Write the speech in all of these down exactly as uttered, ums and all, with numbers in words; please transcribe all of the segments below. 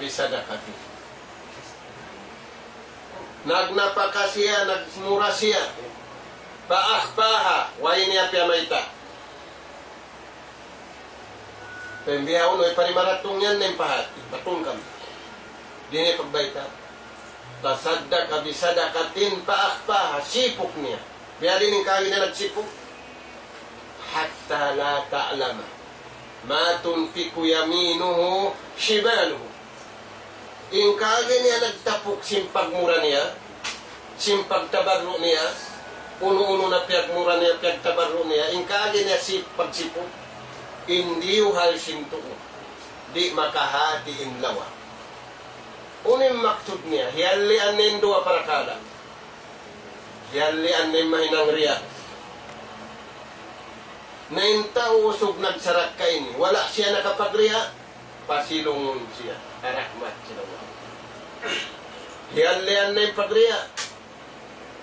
بصدقة. Nagnapaka siya, nagmura siya. فأخفاها, way niya piyamayta'. Pambihaun, way pa ri maratung yan, na in pahat, patung kami. Di' niya pagbayta'. تصدق بصدقة فأخفاها, sipuk niya. Biya' diin in kaagi niya nagsipuk? حتى لا تعلم ما تنفق يمينه شماله. In kaagi niya nagtapuk sin pagmura niya, sin pagtabarru' niya, unu-unu na piyagmura niya, piyagtabarru' niya, in kaagi niya sin pagsipuk, in diyuhal sin tuud, di' makahati in lawa. Unu in maksud niya? Hiyallian niya in duwa parakala'. Hiyallian niya in mahinang riya'. Na in tau usug nagsarakka ini, wala' siya nakapagriya', pasilungun siya ha rahmat sin Allah. Hiyallian niya in pagriya'.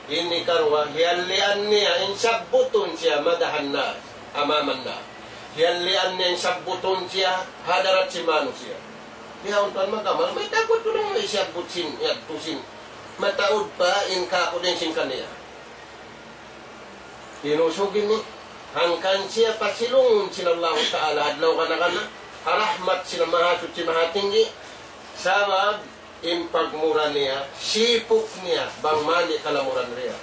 Ini karuwa, hiyallian niya in sabbutun siya مدح الناس أمام الناس. Hiyallian niya in sabbutun siya ha hadarat sin manusiya'. Bihaun pa in mag-amal, mayta' tuud na in siyabbut sin, yadtu sin. Mataud pa in kakuling sin kaniya. In usug ini, hangkan siya pasilungun sin Allahu Ta'ala adlaw kana-kana, ha rahmat sin Mahasuchi Mahatinggi, sabab in pagmura niya, sipuk niya, bang man di' kalamuran riya'.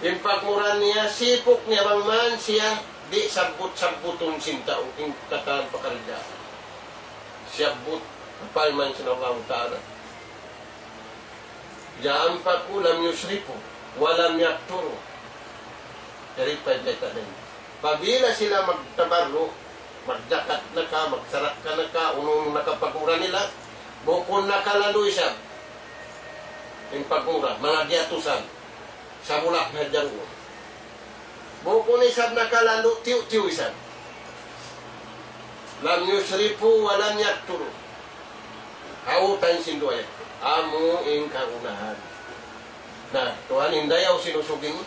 In pagmura niya, sipuk niya, bang man siya, di' sabbut-sabbutun sin tau, in katan pakaridaan. Siyabbut, parman sin Allahu Ta'ala. إذا أنفقوا لم يسرفوا ولم يقتروا. Jari pa in bayta' niya. Apabila sila magtabarru', magjakat na ka, magsarakka na ka, unu-unu na ka pagmura nila, bukun nakalalu isab in pagmura, manga giyatusan, sabulak na jaruun. Bukun isab nakalalu, tiyu'-tiyu' isab. لم يسرفوا ولم يقتروا. Hawtan sin duwa yan. Amu in kagunahan. Na, tuwan, in dayaw sin usug ini.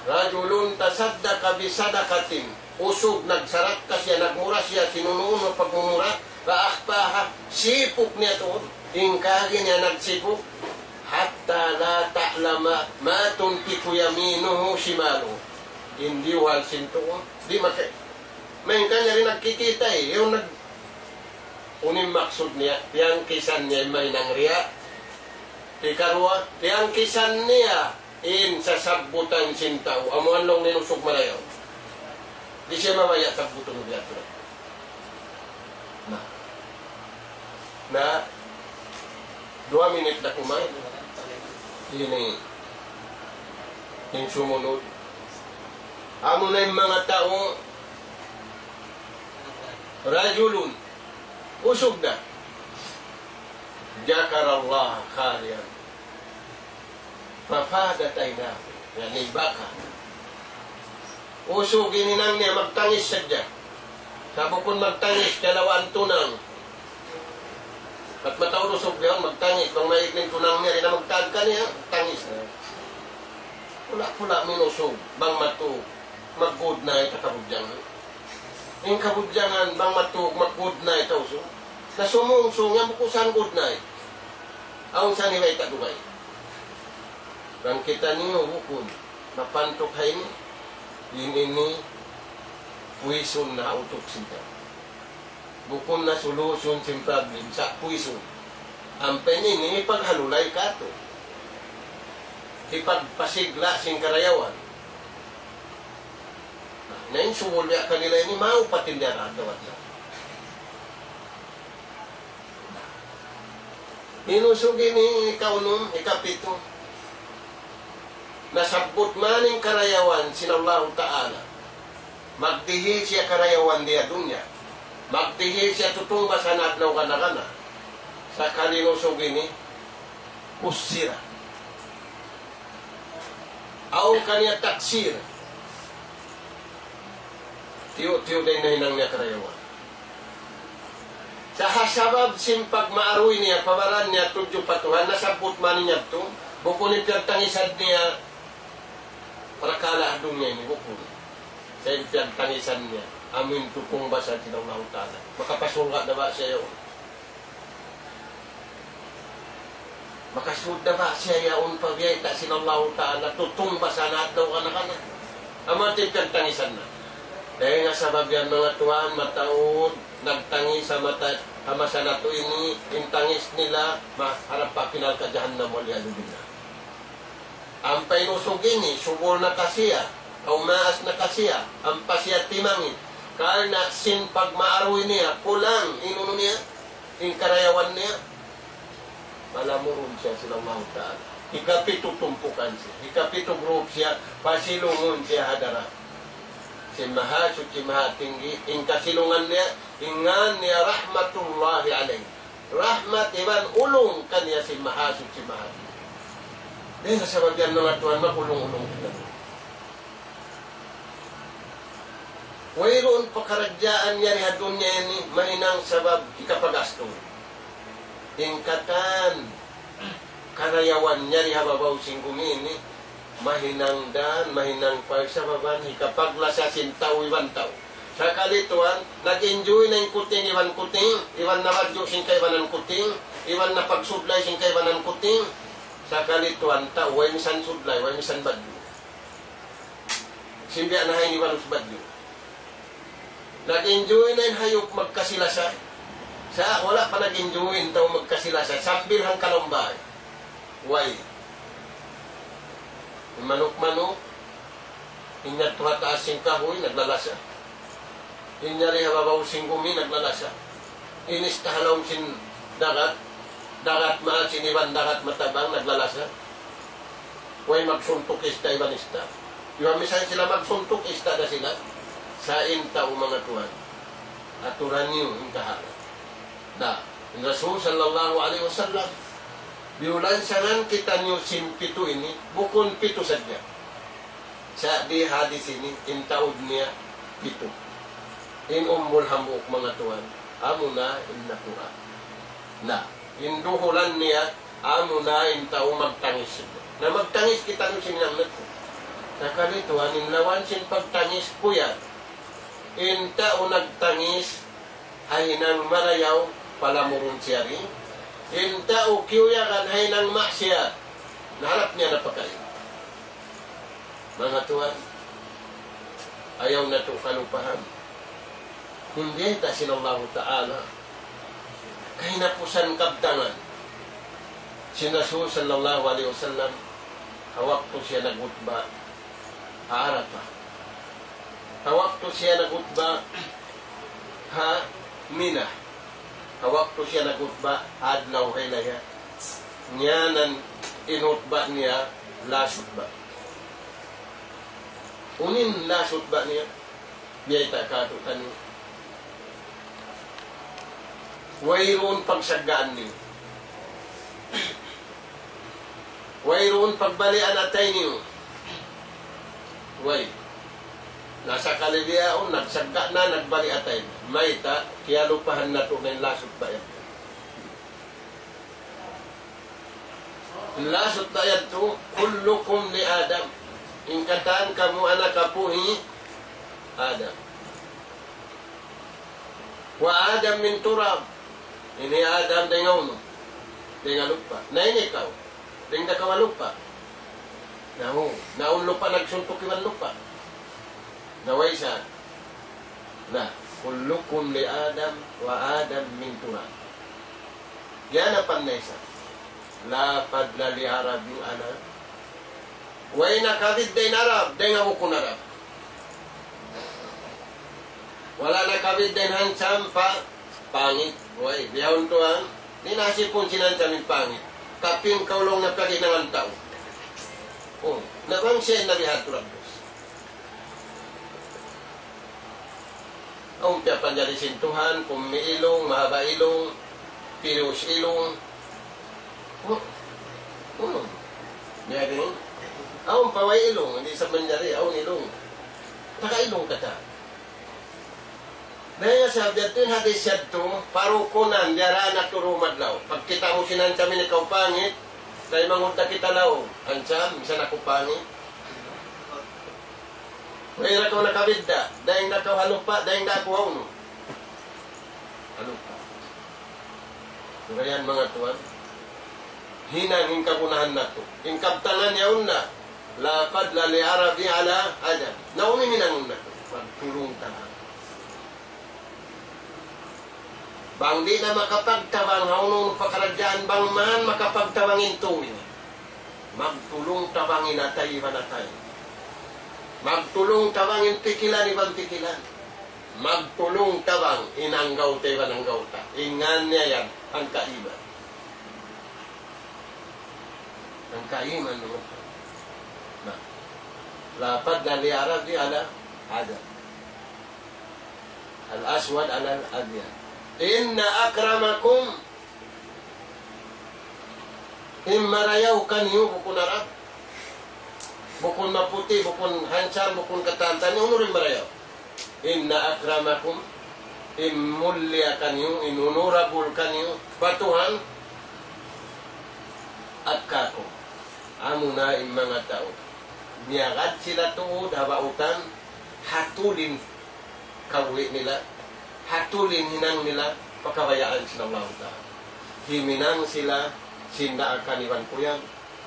رجل تصدق بصدقة. Usug nagsarakka siya, nagmura siya, sin unu-unu pagmumura, فأخفاها, sipuk niya tuud. In kaagi niya nagsipuk, حتى لا تعلم ما تنفق يمينه شماله. In diyuhal sin tuud, di' maka-, main kaniya di' nagkikita' eh. Yaun nag-, unu in maksud niya, tiyangkisan niya in mahinang riya'. Hikaruwa, tiyangkisan niya in sasabbutan sin tau, amu yan laung niya in usug marayaw. Di' siya mabaya' sabbutun biya' tu. Na. Na. Duwa minit na kuman. Ini. In sumunud. Amu na in manga tau. رجل. Usug na. ذكر الله خاليا. ففاضت عيناه, ya'ni baka. Usug in hinang niya magtangis sadja. Sa' bukun magtangis, kiyalawaan tunang. Bat mataud usug biya' yan magtangis, bang maig in tunang niya, di' na magtagka niya, tangis na. Pula-pula in usug, bang matug, mag-good night ha kabudjangan. In kabudjangan, bang matug, mag-good night ha usug. Na sumungsung yan, bukun sa' good night. Awn sa' nibayta' dugaing. Bang kitaniyu bukun mapantuk ha ini, in ini puisun na ha utuk sin tau. Bukun na solution sin problem, sa' puisun. Ampa in ini hipaghalulay katu'. Hipagpasigla' sin karayawan. Na in subul biya' kanila ini, maupat in diyara adlaw-adlaw. In usug ini, ikaunum, ikapitu. Nasabbut man in karayawan sin Allahu Ta'ala. Magdihil siya karayawan di ha dunya. Magdihil siya tutungbas ha adlaw kana-kana. Sakali in usug ini, kussira. Awn kaniya taksir. Tiyu'-tiyu' da in nahinang niya karayawan. Sa' ha sabab sin pagmaaruy niya, pa baran niya tudju pa Tuhan, nasabbut man niya yadtu, bukun in piyagtangisan niya, parakala' ha dunya ini, bukun. Sa' in piyagtangisan niya, amu in tutungbas sin Allahu Ta'ala. Makapasurga' da ba siya yaun? Makasud da ba siya yaun pa biyayta' sin Allahu Ta'ala, tutungbas na adlaw kana-kana. Amu in piyagtangisan na. Dayn ha sabab yan, manga tuwan, mataud nagtangis ha mata, ha masa natu' ini, in tangis nila, maharap pa api narka' jahannam, wal iyadhu billah. Ampa in usug ini, subul na kasiya, aw maas na kasiya, ampa siya timangis. Karna' sin pagmaaruy niya, kulang in unu niya, in karayawan niya. Palamurun siya sin Allahu Ta'ala. Hikapitu tumpukan siya. Hikapitu group siya, pasilungun siya ha darat sin Mahasuchi Mahatinggi, in kasilungan niya, in ngan niya rahmatullahi alayh. Rahmat iban ulung kaniya sin Mahasuchi Mahatinggi. Dayn ha sabab yan, manga tuwan, mag-ulung-ulung kita. Wayruun pakaradjaan yari ha dunya ini mahinang sabab hikapagastu. In katan karayawan yari ha babaw sin gumi ini, mahinang dan, mahinang pagsababan hikapaglasa sin tau iban tau. Sakali tuwan, nag-enjoy na in kuting iban kuting, iban nabadju' sin kaibanan kuting, iban napagsudlay sin kaibanan kuting. Sakali tuwan, tau, way misan sudlay, way misan badju'. Sin biya' na ha ini balus badju'. Nag-enjoy na in hayup magkasi-lasa. Sa' wala' pa nag-enjoy in tau magkasi-lasa. Sambil hangkalaum bay. Way. In manuk-manuk, in yadtu ha taas sin kahuy, naglalasa. In yari ha babaw sin gumi, naglalasa. In ista ha lawm sin dagat, dagat maasin iban dagat matabang, naglalasa. Way magsuntuk ista iban ista. Iban misan sila magsuntuk, ista da sila. Sa' in tau, manga tuwan, aturan niyu in kahalan. Na, in Rasul sallallahu alayhi wasallam, biyulansangan kitaniyu sin pitu ini, bukun pitu sadja. Sa' di hadis ini, in taud niya pitu. In umbul hambuuk, manga tuwan, amuna in natura'. Na, in duhulan niya, amuna in tau magtangis. Na, magtangis kitaniyu sin hinang natu'. Sakali tuwan, in lawan sin pagtangis, kuyag. In tau nagtangis ha hinang marayaw, palamurun siya ri. In tau kiyuyagan ha hinang maksiyat, na harap niya na pakain. Manga tuwan, ayaw natu' kalupahan in biyayta' sin Allahu Ta'ala. Kahinapusan kabtangan sin Rasul sallallahu alayhi wasallam, ha waktu siya nagkhutba ha Arafah. Ha waktu siya nagkhutba ha Mina. Ha waktu siya nagkhutba adlaw haylaya. Ngiyanan in khutba niya, last khutba. Unu in last khutba niya? Biyayta' kātu'niyu. Wayruun pagsaggaan niyu. Wayruun pagbalian atay niyu. Way. Na sakali bihaun, nagsagga' na, nagbali' atay na. Mayta', kiyalupahan natu' na in last khutba yan. In last khutba yadtu, كلكم لآدم. In katan kamu anak apu' hi Adam. وآدم من تراب. In hi Adam dayn ha unu? Dayn ha lupa'. Na in ikaw? Dayn da kaw ha lupa'. Na hu, na awn lupa' nagsuntuk iban lupa'. Na way sa. Na, كلكم لآدم وآدم من تراب. Yan na pa in isa. لا فضل لعرب على. Way nakabidda' in Arab dayn ha bukun Arab. Wala' nakabidda' in handsome pa pangit. Way, bihaun tuwan, di' na sipun sin handsome in pangit. Kapin kaw laung na piyaghinangan tau. Oh, na bang siya in nabiha' tu rabbus. Awn piyapanjari sin Tuhan, kummi' ilung, mahaba' ilung, pirius ilung. Oh, oh. Jadi, awn pa way ilung, di' sa manjari, awn ilung. Taga ilung kata. Na, ya, sabab yadtu in hadis yadtu, parukunan, diyara na turu madlaw. Pagkita' mu sin handsome ini kaw pangit, kay mangudda kita laung. Handsome, misan aku pangit. Way ra kaw nakabidda', dayn da kaw ha lupa', dayn da aku ha unu? Ha lupa'. Sagayan manga tuwan. hinang in kagunahan natu'. In kabtangan yaun na, لا فضل لعرب على عجم. Na unu in hinangun natu'? Magtulung-tabang. Bang di' na makapagtabang ha unu-unu pakaradjaan, bang man makapagtabang in tau ini, magtulung-tabang in atay iban atay. Magtulung-tabang in pikilan iban pikilan. Magtulung-tabang in anggawta iban anggawta. In ngan niya yan, hangkaiman. Hangkaiman, no? Na, لا فضل لعرب على عجم. الأسود على الأبيض. إن أكرمكم, in marayaw kaniyu bukun Arab, bukun maputi', bukun handsome, bukun katan-katan, unu in marayaw? إن أكرمكم, in mulia kaniyu, in honorable kaniyu pa Tuhan, أتقاكم, amuna in manga tau miyagad sila tuud ha bautan, ha tuli in kabuhi' nila, ha tuli in hinang nila, pa kabayaan sin Allahu Ta'ala. Himinang sila sin daakan iban kuyag,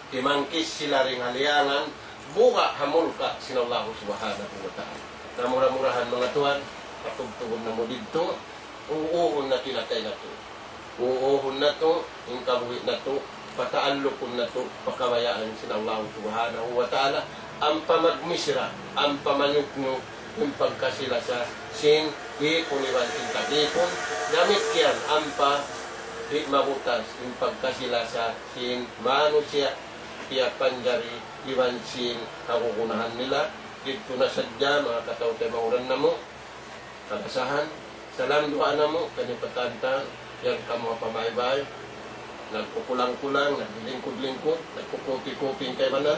timangkis sila dayn ha liyangan, buga' ha murka' sin Allahu Subhanahu wa Ta'ala. Na mura-murahan, manga tuwan, patubtubun namu' didtu, uuhun natu' in atay natu'. Uuhun natu' in kabuhi' natu', pataallukun natu' pa kabayaan sin Allahu Subhanahu wa Ta'ala, ampa magmisra, ampa manyuknuk in pagkasi-lasa sin ipun iban sin tag-ipun, damikkiyan ampa di' mabutas in pagkasi-lasa sin manusiya' piyapanjari iban sin kagunahan nila. Didtu na sadja, manga kataymanghuran namu', kalasahan. Salam duwaa namu' kaniyu pa tantan, yan kamu ha pamaybay, nagkukulang-kulang, naglilingkud-lingkud, nagkukupi-kupi in kaibanan,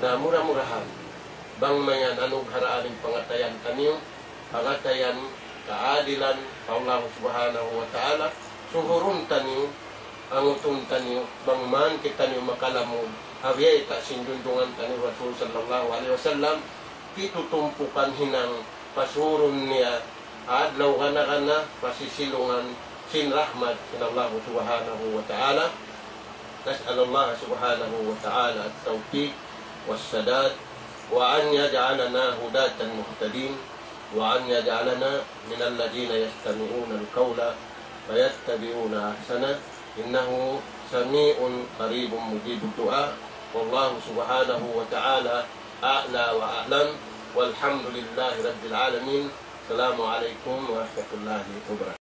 na mura-murahan bang mayan anugharaan in pangatayan taniyu, pangatayan kaadilan pa Allahu Subhanahu wa Ta'ala, suhurun taniyu, angutun taniyu, bang man kitaniyu makalamud ha biyayta' sin junjungan taniyu Rasul sallallahu alayhi wasallam, pitu tumpukan hinang pasurun niya adlaw gana-gana, pasisilungan sin rahmat sin Allahu Subhanahu wa Ta'ala. نسأل الله سبحانه وتعالى التوفيق والسداد، وأن يجعلنا هداة مهتدين، وأن يجعلنا من الذين يستمعون القول فيتبعون أحسنه، إنه سميع قريب مجيب الدعاء. والله سبحانه وتعالى أعلى وأعلم، والحمد لله رب العالمين. السلام عليكم ورحمة الله وبركاته.